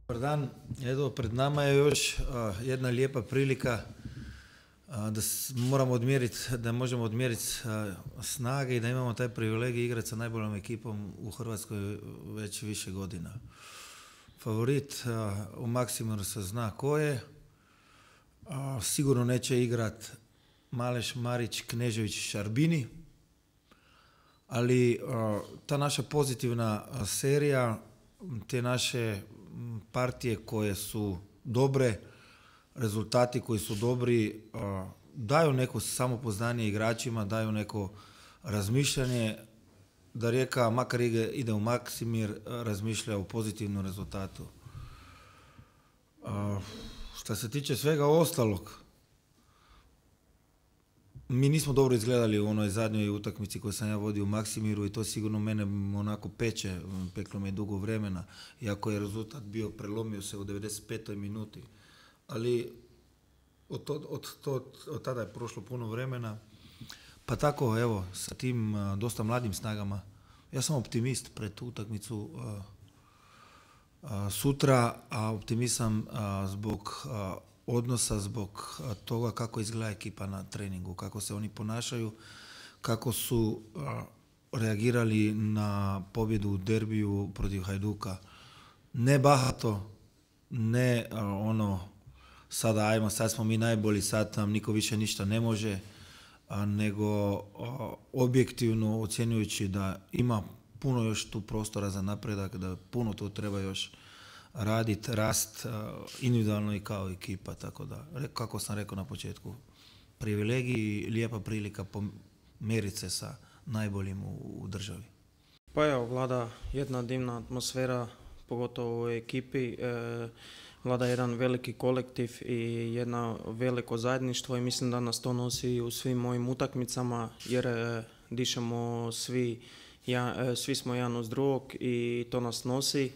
Dobar dan. Evo, pred nama je još jedna lijepa prilika da moramo odmjeriti, da možemo odmjeriti snage i da imamo taj privilegij igrati sa najboljom ekipom u Hrvatskoj već više godina. Favorit u Maksimiru se zna ko je. Sigurno neće igrat Maleš, Marić, Knežević, Šarbini, ali ta naša pozitivna serija, te naše partije koje su dobre, rezultati koji su dobri, daju neko samopoznanje igračima, daju neko razmišljanje da Rijeka, makar ide u Maksimir, razmišlja o pozitivnom rezultatu. Što se tiče svega ostalog, mi nismo dobro izgledali u onoj zadnjoj utakmici koju sam ja vodio u Maksimiru i to sigurno mene onako peče, peklo me dugo vremena, iako je rezultat bio, prelomio se u 95. minuti. Ali od tada je prošlo puno vremena, pa tako evo, sa tim dosta mladim snagama, ja sam optimist pred tu utakmicu sutra, a optimist sam zbog odnosa, zbog toga kako izgleda ekipa na treningu, kako se oni ponašaju, kako su reagirali na pobjedu u derbiju protiv Hajduka. Ne bahato, ne sada ajmo, sad smo mi najbolji, sad nam niko više ništa ne može, nego objektivno ocjenjujući da ima puno još tu prostora za napredak, da puno tu treba još raditi, rast individualno i kao ekipa, tako da, kako sam rekao na početku, privilegij i lijepa prilika pomjeriti se sa najboljim u državi. Pa evo, vlada jedna divna atmosfera, pogotovo u ekipi, vlada jedan veliki kolektiv i jedno veliko zajedništvo i mislim da nas to nosi u svim mojim utakmicama jer dišemo svi smo jedan uz drugog i to nas nosi.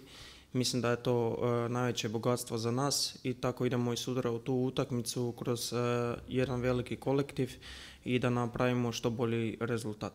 Mislim da je to najveće bogatstvo za nas i tako idemo i sutra u tu utakmicu kroz jedan veliki kolektiv i da napravimo što bolji rezultat.